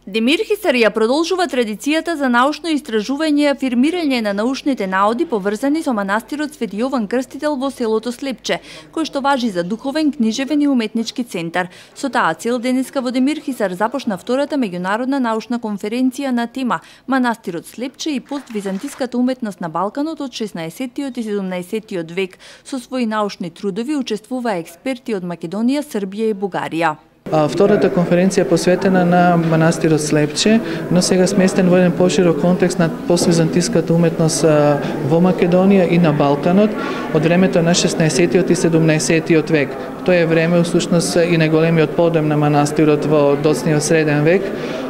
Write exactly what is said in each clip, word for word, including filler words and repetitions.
Демир Хисар ја продолжува традицијата за научно истражување и афирмирање на научните наоди поврзани со манастирот Свети Јован Крстител во селото Слепче, кој што важи за духовен, книжевен и уметнички центар. Со таа цел денеска во Демир Хисар започна втората меѓународна научна конференција на тема Манастирот Слепче и поствизантиската уметност на Балканот од шеснаесеттиот и седумнаесеттиот век. Со своји научни трудови учествуваа експерти од Македонија, Србија и Бугарија. Втората конференција е посветена на манастирот Слепче, но сега сместен во еден поширок контекст на поствизантиската уметност во Македонија и на Балканот од времето на шеснаесеттиот и седумнаесеттиот век. Тоа е време всушност и најголемиот подем на манастирот во доцниот среден век,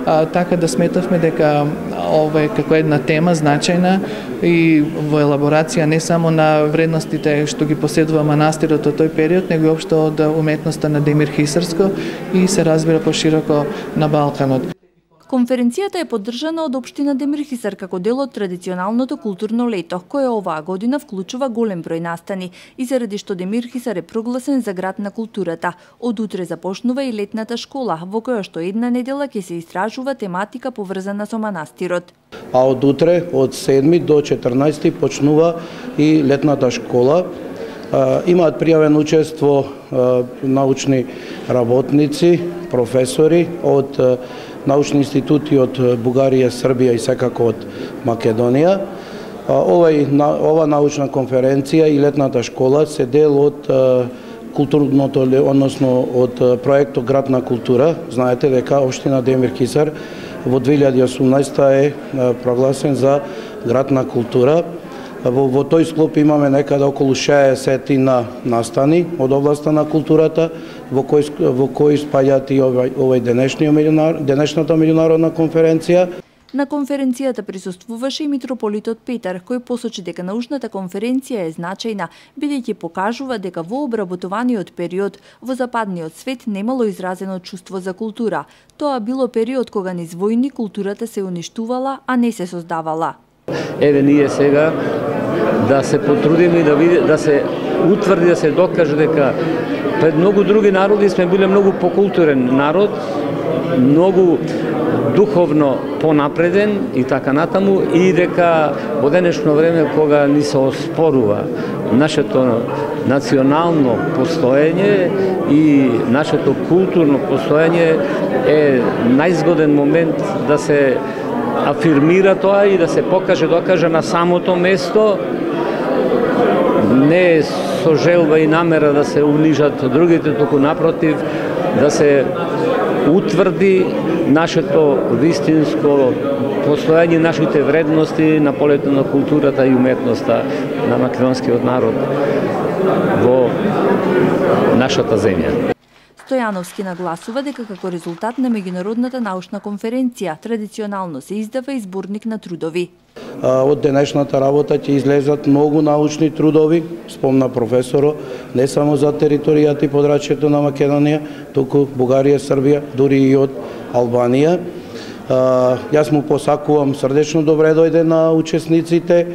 а, така да сметавме дека ова е како една тема значајна и во елаборација не само на вредностите што ги поседува манастирот од тој период, него и општо од уметноста на Демир Хисарско и се разбира пошироко на Балканот. Конференцијата е поддржана од општина Демир Хисар како дел од традиционалното културно лето, кое оваа година вклучува голем број настани и заради што Демир Хисар е прогласен за град на културата. Од утре започнува и летната школа, во која што една недела ќе се истражува тематика поврзана со манастирот. А од утре, од седми до четрнаесети почнува и летната школа. Имаат пријавено учество научни работници, професори од научни институти од Бугарија, Србија и секако од Македонија. Овај, ова научна конференција и летната школа се дел од културното, односно од проектот Град на култура. Знаете дека општина Демир Хисар во две илјади и осумнаесета е прогласен за град на култура. Во, во тој склоп имаме некаде околу шеесет на настани од областа на културата, во кој, во кој спаѓаат и овај, овај денешниот, денешната меѓународна конференција. На конференцијата присуствуваше и митрополитот Петар, кој посочи дека научната конференција е значајна, бидејќи покажува дека во обработуваниот период во западниот свет немало изразено чувство за култура. Тоа било период кога низ војни културата се уништувала, а не се создавала. Еве ние сега да се потрудиме и да види, да се утврди, да се докаже дека пред многу други народи сме биле многу покултурен народ, многу духовно понапреден и така натаму, и дека во денешно време кога ни се оспорува нашето национално постоење и нашето културно постоење, е најзгоден момент да се афирмира тоа и да се покаже, докаже на самото место, не со желба и намера да се унижат другите, туку напротив, да се утврди нашето вистинско постоење, нашите вредности на полето на културата и уметноста на македонскиот народ во нашата земја. Стојановски нагласува дека како резултат на меѓународната научна конференција традиционално се издава и зборник на трудови. Од денешната работа ќе излезат многу научни трудови, спомна професоро, не само за територијата и подрачјето на Македонија, туку Бугарија, Србија, дури и од Албанија. Јас му посакувам срдечно добре дојде на учесниците.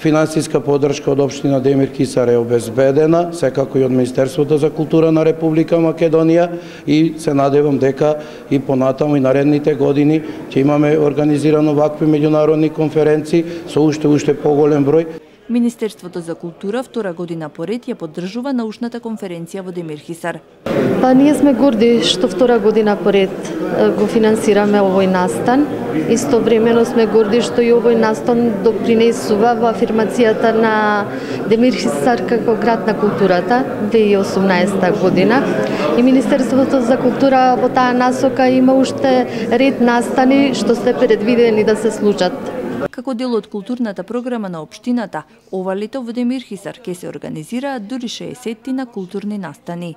Финансиска поддршка од општина Демир Хисар е обезбедена, секако и од Министерството за култура на Република Македонија, и се надевам дека и понатаму и наредните години ќе имаме организирано вакви меѓународни конференции со уште уште поголем број. Министерството за култура втора година поред ја поддржува научната конференција во Демир Хисар. Па ние сме горди што втора година поред го финансираме овој настан. Истовремено сме горди што и овој настан допринесува во афирмацијата на Демир Хисар како град на културата две илјади и осумнаесета година. И Министерството за култура во таа насока има уште ред настани што се предвидени да се случат. Како дел од културната програма на општината, ова лето во Демир Хисар ќе се организираат дури шеесет на културни настани.